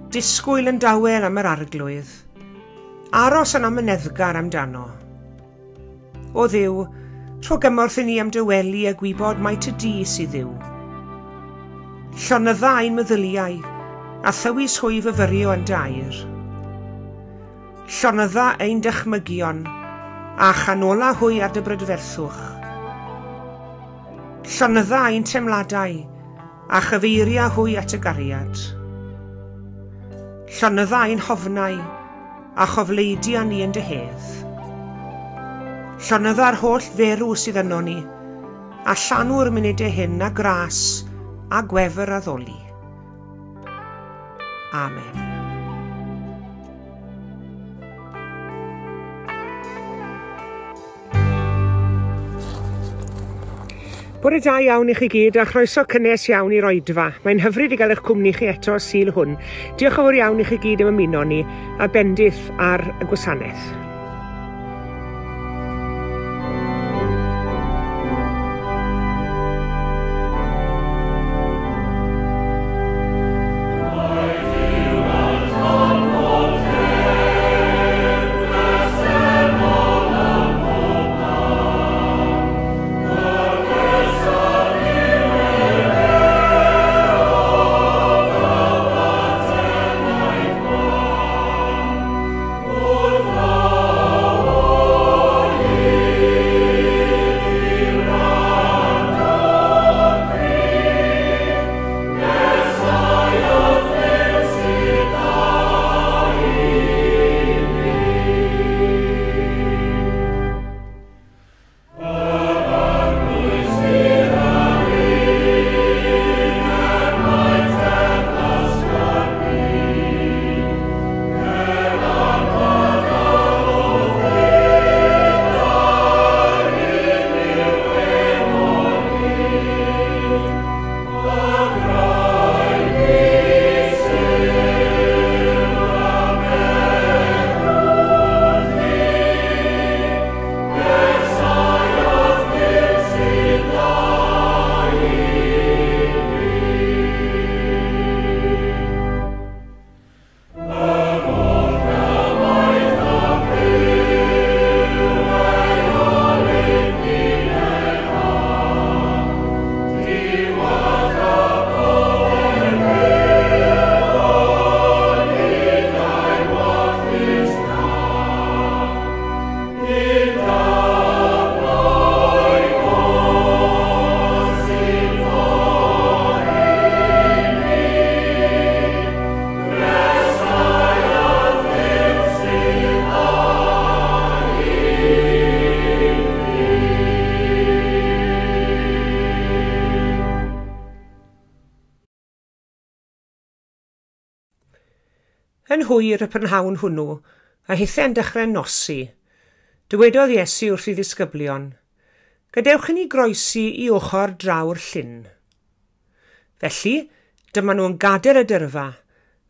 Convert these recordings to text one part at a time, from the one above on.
Disgwyl yn dawel am yr arglwydd. Aros yn amyneddgar amdano. O Dduw, rho gymorth i ni am dawelu a gwybod mai ty di sydd Dduw. Llonydda ein meddyliau, a thywys hwy fyfyrio yn dair. Llonydda ein dychmygion, a chanola hwy ar dy brydferthwch. Llonydda ein teimladau, a chyfeiria hwy at y gariad. Llonydda ein hofnau, a chofleidia ni yn dy hedd. Llonydda'r holl ferw sydd yno ni, a llanw'r munudau hyn a gras a gwefr addoli. Amen. Bore da iawn i chi gyd a chroeso cynnes iawn i'r oedfa. Mae'n hyfryd i gael eich cwmni chi eto y Sul hwn. Diolch yn fawr iawn i chi gyd am ymuno ni a bendith ar y gwasanaeth. Yn hwyr y prynhawn hwnnw, a hithau'n dechrau nosi, dywedodd Iesu wrth ei ddisgyblion, gadewch i ni groesi i ochr draw'r llyn. Felly, dyma nhw'n gadael y dyrfa,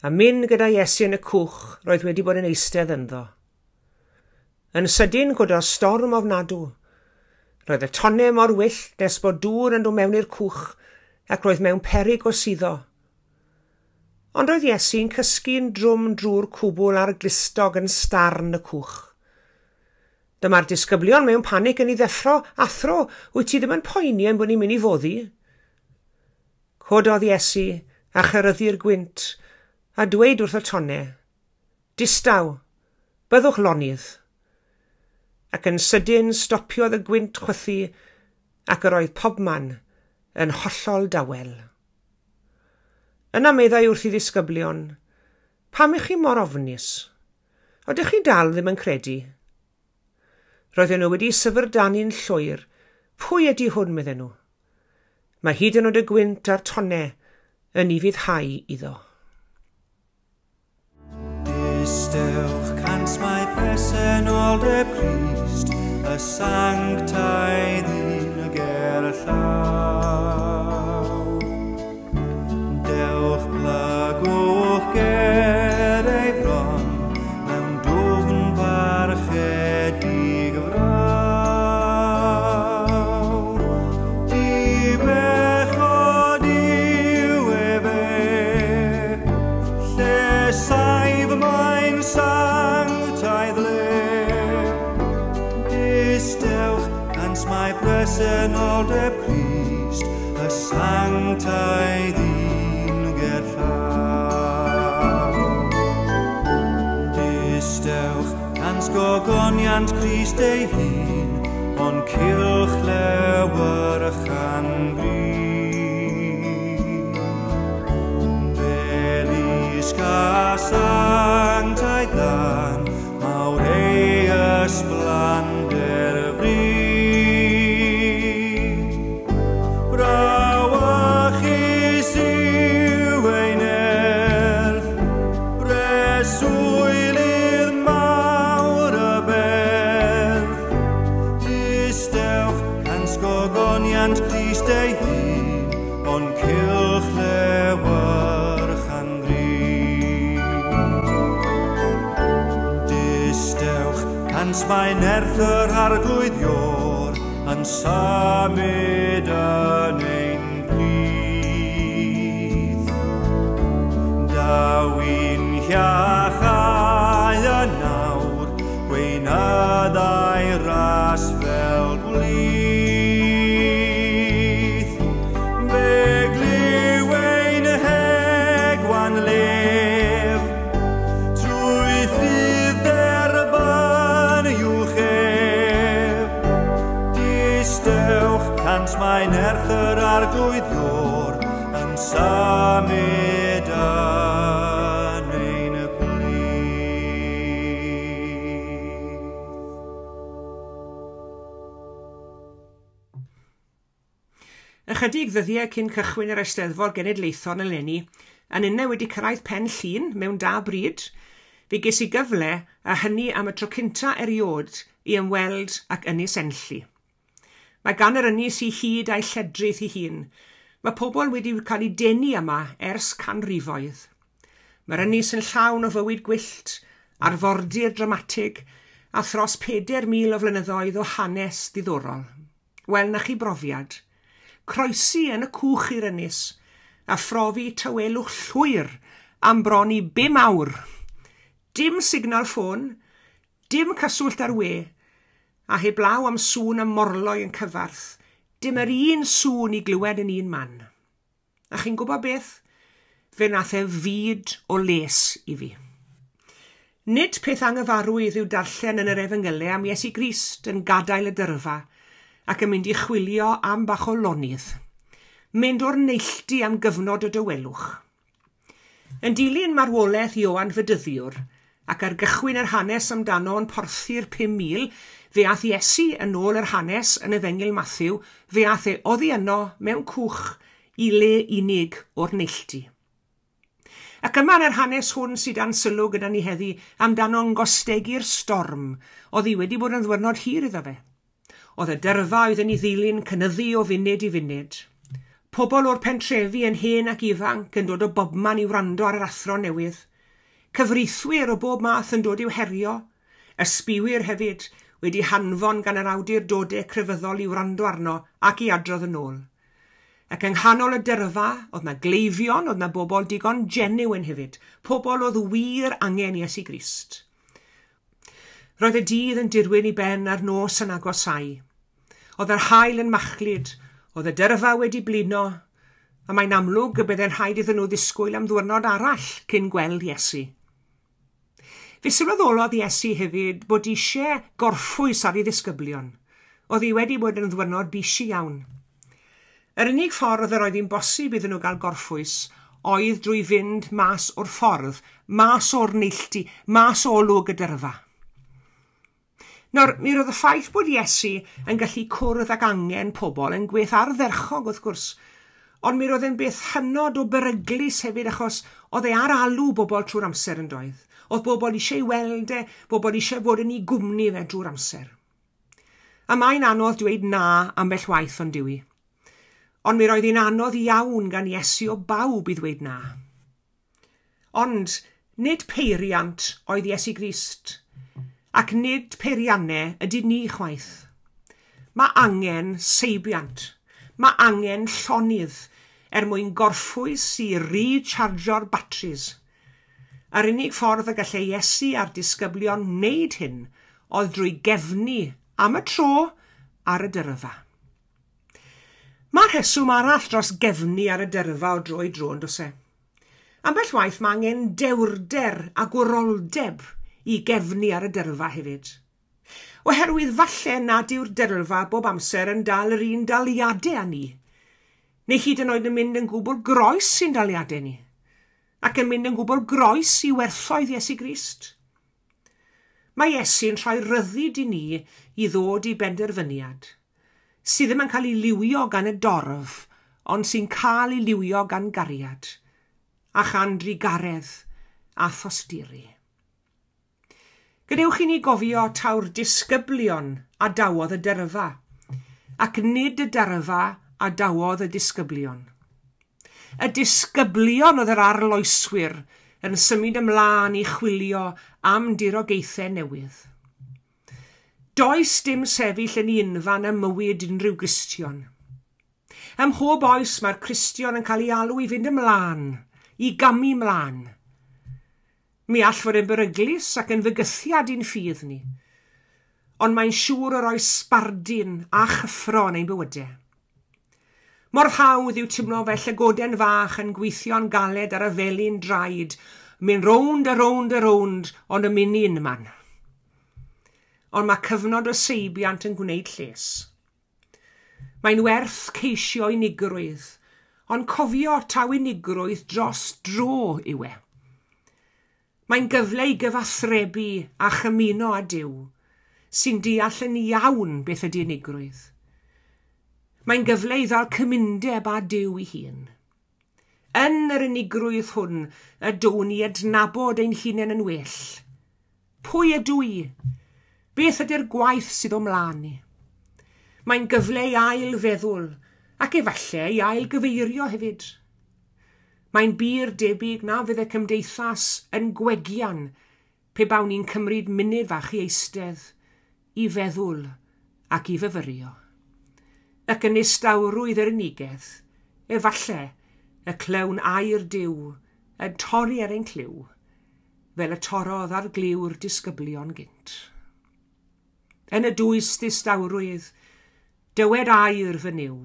a mynd gyda Iesu yn y cwch roedd wedi bod yn eistedd ynddo. Yn sydyn cododd storm ofnadw. Roedd y tonnau mor wyllt nes bod dŵr yn dod mewn i'r cwch ac roedd mewn peryg o suddo. Ond roedd Iesu'n cysgu'n drwm drwy'r cwbl ar glustog yn starn y cwch. Dyma'r disgyblion mewn panig yn ei ddeffro, athro, wyt ti ddim yn poeni ein bod ni'n mynd i foddi? Cododd Iesu a cheryddu'r gwynt a dweud wrth y tonnau, distaw, byddwch lonydd. Ac yn sydyn stopiodd y gwynt chwythu ac yr oedd pobman yn hollol dawel. Yna meddai wrth ei ddisgyblion, pam ych chi mor ofnus? Oeddech chi dal ddim yn credu? Roedden nhw wedi syfrdanu'n llwyr. Pwy ydy hwn, medden nhw? Mae hyd yn oed y gwynt a'r tonnau yn ufuddhau iddo. Distewch cant mae presenoldeb Crist, y sanctaidd un ger y llaw. Dewch plygwch ger ei fron, mewn dwfn barchedig fraw. Dibechod yw efe, lle presenoldeb Crist, y sanctaidd un gerllaw. Distewch cans gogoniant Crist ei hun, o'n cylch lewyrchan gri. Belisg a sanctaidd glân, mawr ei ysblander fri. Brawychus yw ei nerth, breswylydd mawr y berth. Distewch cans gogoniant Crist ei hun, o'n cylch lewyrchan gri. Distewch cans mae nerth yr Arglwydd Iôr yn symud yn ein plith. Daw i'n hiachau yn awr, gweinyddau ras fel gwlith. Fe glyw ein hegwan lef, trwy ffydd dderbyn uwch ef. Distewch cans mae nerth yr Arglwydd Iôr yn symud yn ein plith. Ychydig ddyddiau cyn cychwyn yr Eisteddfod Genedlaethol eleni, a ninne wedi cyrraedd Pen Llŷn mewn da bryd, fe ges i gyfle, a hynny am y tro cynta erioed, i ymweld ac Ynys Enlli. Mae gan yr ynys ei hyd a'i lledrith ei hun. Mae pobl wedi cael eu denu yma ers canrifoedd. Mae'r ynys yn llawn o fywyd gwyllt, arfordir dramatig, a thros 4,000 o flynyddoedd o hanes diddorol. Wel, na chi brofiad. Croesi yn y cwch i'r ynys, a phrofi tawelwch llwyr am bron i 5 awr. Dim signal ffôn, dim cyswllt ar we, a heblaw am sŵn y morloi yn cyfarth, dim yr un sŵn i glywed yn un man. A chi'n gwybod beth? Fe nath e fyd o les i fi. Nid peth anghyfarwydd yw darllen yn yr Efengylau am Iesu Grist yn gadael y dyrfa ac yn mynd i chwilio am bach o lonydd. Mynd o'r neilltu am gyfnod o dawelwch. Yn dilyn marwolaeth Ioan Fedyddiwr, ac ar gychwyn yr hanes amdano yn porthu'r 5,000, fe ath Iesu yn ôl yr hanes yn Efengyl Mathew, fe ath e oddi yno mewn cwch i le unig o'r neilltu. Ac yma yn yr hanes hwn sydd dan sylw gyda ni heddi amdano'n gostegu'r storm, oedd hi wedi bod yn ddiwrnod hir iddo fe. Oedd y dyrfa oedd yn ei ddilyn cynyddu o funud i funud. Pobl o'r pentrefi yn hen ac ifanc yn dod o bobman i wrando ar yr athro newydd. Cyfreithwyr o bob math yn dod i'w herio. Ysbiwyr hefyd wedi hanfon gan yr awdurdodau crefyddol i wrando arno ac i adrodd yn ôl. Ac yng nghanol y dyrfa, oedd na gleifion, oedd na bobl digon genuine hefyd, pobl oedd wir angen Iesu Grist. Roedd y dydd yn dirwyn i ben a'r nos yn agosáu. Oedd yr haul yn machlud, oedd y dyrfa wedi blino, a mae'n amlwg y byddai'n rhaid iddyn nhw ddisgwyl am ddiwrnod arall cyn gweld Iesu. Fe sylweddolodd Iesu hefyd bod eisiau gorffwys ar ei ddisgyblion. Oedd hi wedi bod yn ddiwrnod bisi iawn. Yr unig ffordd yr oedd hi'n bosib iddyn nhw gael gorffwys oedd drwy fynd mas o'r ffordd, mas o'r neilltu, mas o olwg y dyrfa. Nawr, mi roedd y ffaith bod Iesu yn gallu cwrdd ag angen pobl yn gweith ardderchog wrth gwrs, ond mi roedd e'n beth hynod o beryglus hefyd achos oedd e ar alw bobl trwy'r amser yn doedd. Oedd bobl eisiau ei weld e, bobl eisiau fod yn ei gwmni fe drwy'r amser. A mae'n anodd dweud na ambell waith ond dyw i. Ond mi roedd hi'n anodd iawn gan Iesu o bawb i ddweud na. Ond nid peiriant oedd Iesu Grist, ac nid peiriannau ydy ni chwaith. Mae angen seibiant, mae angen llonydd er mwyn gorffwys i rechargio'r batris. Yr unig ffordd y gallai Iesu a'r disgyblion wneud hyn oedd drwy gefnu am y tro ar y dyrfa. Mae rheswm arall dros gefnu ar y dyrfa o dro i dro, yn does e? Ambell waith mae angen dewrder a gwroldeb i gefnu ar y dyrfa hefyd. Oherwydd falle nad yw'r dyrfa bob amser yn dal yr un daliadau â ni, neu hyd yn oed yn mynd yn gwbl groes i'n daliadau ni, ac yn mynd yn gwbl groes i werthoedd Iesu Grist. Mae Iesu'n rhoi rhyddid i ni i ddod i benderfyniad, sydd ddim yn cael ei liwio gan y dorf, ond sy'n cael ei liwio gan gariad, a chan drugaredd a thosturi. Gadewch i ni gofio taw'r disgyblion adawodd y dyrfa, ac nid y dyrfa adawodd y disgyblion. Y disgyblion oedd yr arloeswyr yn symud ymlaen i chwilio am dirogaethau newydd. Does dim sefyll yn unfan ym mywyd unrhyw Gristion. Ym mhob oes mae'r Cristion yn cael ei alw i fynd ymlaen, i gamu ymlaen. Mi all fod yn beryglus ac yn fygythiad i'n ffydd ni, ond mae'n siŵr o roi sbardun a chyffro yn ein bywydau. Mor hawdd yw teimlo fel llygoden fach yn gweithio'n galed ar y felin draed, mynd rownd a rownd a rownd, ond yn mynd unman. Ond mae cyfnod o seibiant yn gwneud lles. Mae'n werth ceisio unigrwydd, ond cofio taw unigrwydd dros dro yw e. Mae'n gyfle i gyfathrebu a chymuno â Duw, sy'n deall yn iawn beth ydy unigrwydd. Mae'n gyfle i ddal cymundeb â Duw ei hun. Yn yr unigrwydd hwn y down ni adnabod ein hunain yn well. Pwy ydw i? Beth ydy'r gwaith sydd o mlaen ni? Mae'n gyfle i ail feddwl ac efallai i ail gyfeirio hefyd. Mae'n bur debyg na fydd y cymdeithas yn gwegian pe bawn ni'n cymryd munud fach i eistedd, i feddwl ac i fyfyrio. Ac yn nistawrwydd yr unigedd, efallai y clywn air Duw yn torri ar ein clyw, fel y torrodd ar glyw'r disgyblion gynt. Yn y dwys ddistawrwydd, dywed air fy Nuw,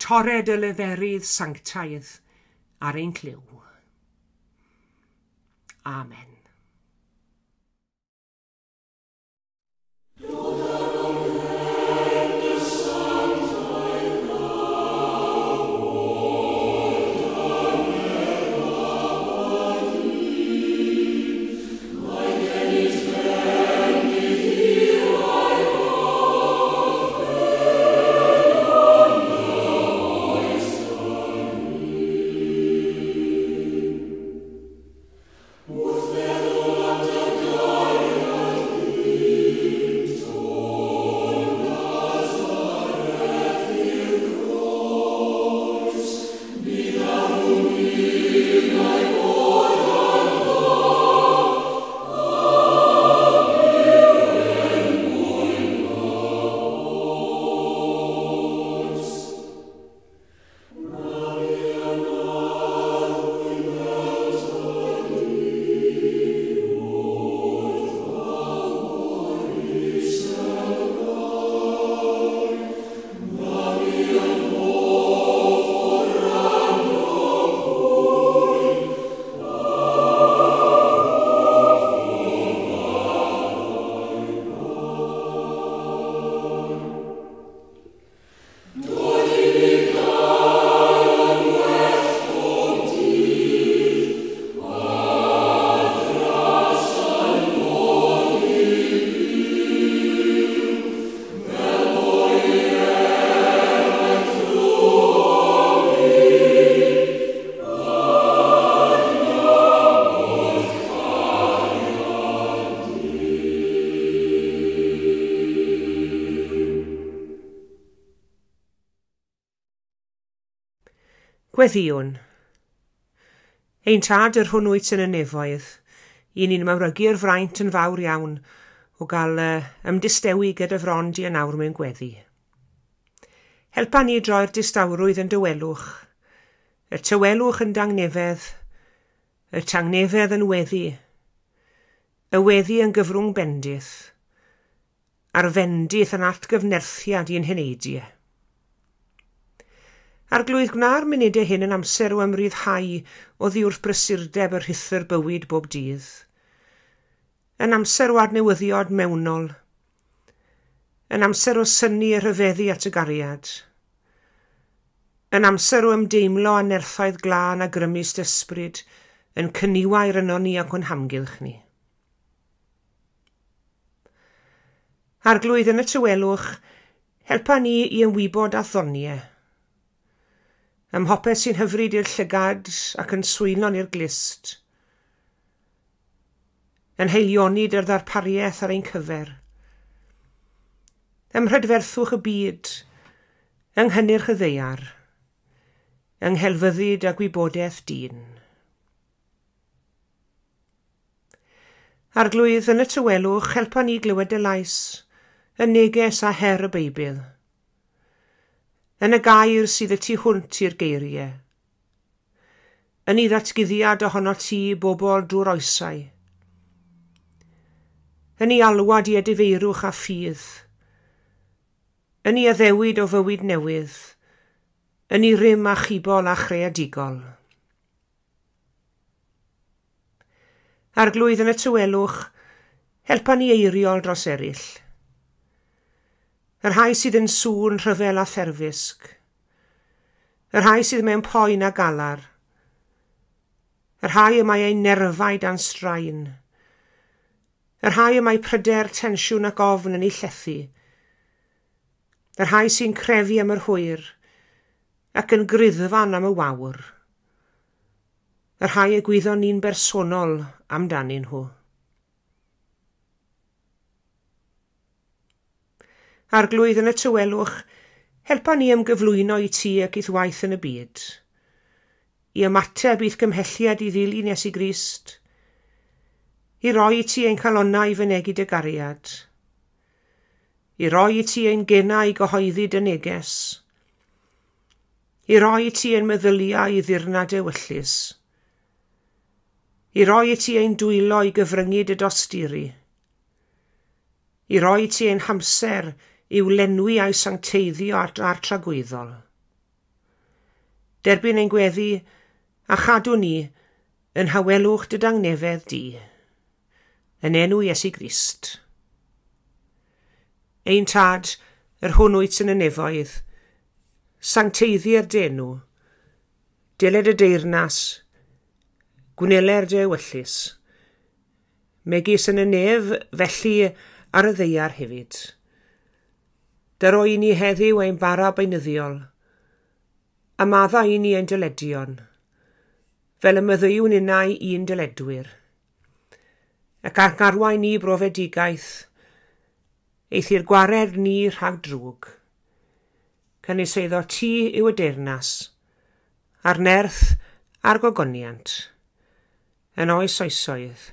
torred y leferydd sanctaidd ar ein clyw. Amen. Gweddïwn. Ein tad yr hwn wyt yn y nefoedd, i ni'n mawrygu'r fraint yn fawr iawn o gael ymddistewi gyda fron di yn awr mewn gweddi. Helpa ni droi'r distawrwydd yn dawelwch, y tawelwch yn dangnefedd, y tangnefedd yn weddi, y weddi yn gyfrwng bendith, a'r fendith yn atgyfnerthiad i'n heneidiau. Arglwydd, gwna'r munudau hyn yn amser o ymryddhau oddi wrth brysurdeb y rhuthr bywyd bob dydd. Yn amser o adnewyddiad mewnol. Yn amser o synnu a rhyfeddu at y gariad. Yn amser o ymdeimlo â nerthoedd glân a grymus ysbryd yn cyniwair yno ni ac o'n hamgylch ni. Arglwydd, yn y tawelwch, helpa ni i ymwybod a ddoniau. Ym mhopeth sy'n hyfryd i'r llygad ac yn swynon i'r glust. Yn haelioni dy'r ddarpariaeth ar ein cyfer. Ym mhrydferthwch y byd, yng nghynnyrch y ddaear, yng nghelfyddyd a gwybodaeth dyn. Arglwydd, yn y tawelwch, helpa ni glywed dy lais, y neges a her y Beibl. Yn y gair sydd y tu hwnt i'r geiriau. Yn ei ddatguddiad ohono ti bobl drwy'r oesau. Yn ei alwad i edifeirwch a ffydd. Yn ei addewid o fywyd newydd. Yn ei rym achubol a chreadigol. Arglwydd, yn y tawelwch, helpa ni eiriol dros eraill. Y rhai sydd yn sŵn rhyfel a therfysg. Y rhai sydd mewn poen a galar. Y rhai y mae eu nerfau dan straen. Y rhai y mae pryder, tensiwn ac ofn yn eu llethu. Y rhai sy'n crefu am yr hwyr ac yn griddfan am y wawr. Y rhai y gwyddon ni'n bersonol amdanyn nhw. Arglwydd, yn y tawelwch, helpa ni ymgyflwyno i ti ac i'th waith yn y byd. I ymateb i'th gymhelliad i ddilyn Iesu Grist. I roi i ti ein calonnau i fynegi dy gariad. I roi i ti ein genau i gyhoeddi dy neges. I roi i ti ein meddyliau i ddirnad ewyllys. I roi i ti ein dwylo i gyfryngu dy dosturi. I roi i ti ein hamser i'w lenwi a'i sancteiddio a'r tragwyddol. Derbyn ein gweddi a chadw ni yn hawelwch dy dangnefedd di. Yn enw Iesu Grist. Ein Tad, yr hwn wyt yn y nefoedd, sancteiddier dy enw, deled y deyrnas, gwneler dy ewyllys, megis yn y nef, felly ar y ddaear hefyd. Dyro i ni heddiw ein bara beunyddiol, a madda i ni ein dyledion, fel y maddeuwn innau i'n dyledwyr. Ac arwain ni brofedigaeth, eithr gwared ni rhag drwg. Canys eiddo ti yw y deyrnas, a'r nerth a'r gogoniant, yn oes oesoedd.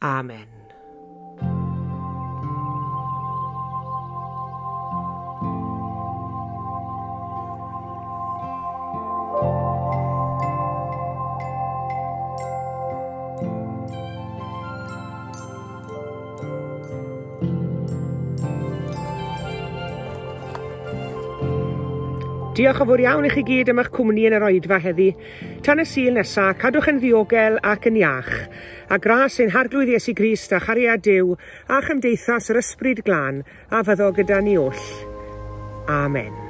Amen. Diolch yn fawr iawn i chi gyd am eich cwmni yn yr oedfa heddi. Tan y Sul nesa, cadwch yn ddiogel ac yn iach. A gras ein Harglwydd Iesu Grist a chariad Duw a chymdeithas yr Ysbryd Glân a fyddo gyda ni oll. Amen.